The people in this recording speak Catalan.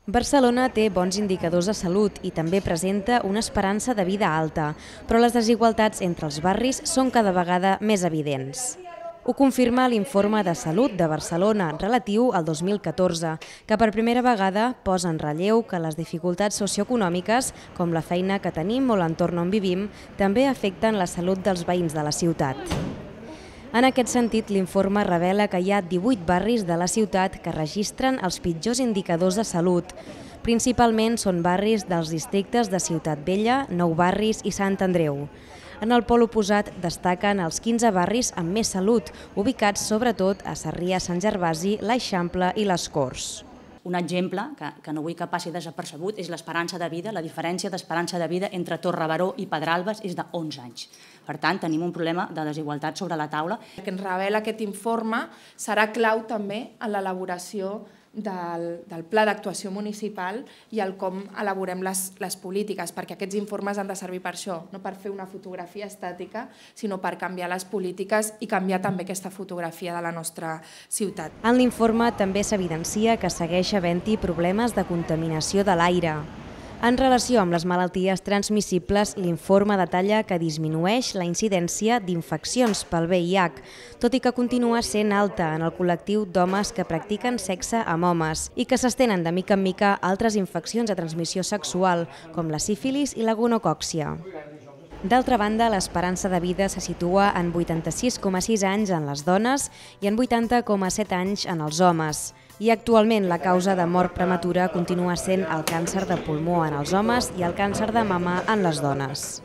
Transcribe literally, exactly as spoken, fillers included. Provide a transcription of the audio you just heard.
Barcelona té bons indicadors de salut i també presenta una esperança de vida alta, però les desigualtats entre els barris són cada vegada més evidents. Ho confirma l'informe de salut de Barcelona relatiu al dos mil catorze, que per primera vegada posa en relleu que les dificultats socioeconòmiques, com la feina que tenim o l'entorn on vivim, també afecten la salut dels veïns de la ciutat. En aquest sentit, l'informe revela que hi ha divuit barris de la ciutat que registren els pitjors indicadors de salut. Principalment són barris dels districtes de Ciutat Vella, Nou Barris i Sant Andreu. En el pol oposat destaquen els quinze barris amb més salut, ubicats sobretot a Sarrià, Sant Gervasi, l'Eixample i les Corts. Un exemple que, que no vull que passi desapercebut és l'esperança de vida. La diferència d'esperança de vida entre Torrebaró i Pedralbes és d'onze anys. Per tant, tenim un problema de desigualtat sobre la taula. El que ens revela aquest informe serà clau també en l'elaboració del, del pla d'actuació municipal i el com elaborem les, les polítiques, perquè aquests informes han de servir per això, no per fer una fotografia estàtica, sinó per canviar les polítiques i canviar també aquesta fotografia de la nostra ciutat. En l'informe també s'evidencia que segueix havent-hi problemes de contaminació de l'aire. En relació amb les malalties transmissibles, l'informe detalla que disminueix la incidència d'infeccions pel V I H, tot i que continua sent alta en el col·lectiu d'homes que practiquen sexe amb homes i que s'estenen de mica en mica altres infeccions de transmissió sexual, com la sífilis i la gonocòccia. D'altra banda, l'esperança de vida se situa en vuitanta-sis coma sis anys en les dones i en vuitanta coma set anys en els homes. I actualment la causa de mort prematura continua sent el càncer de pulmó en els homes i el càncer de mama en les dones.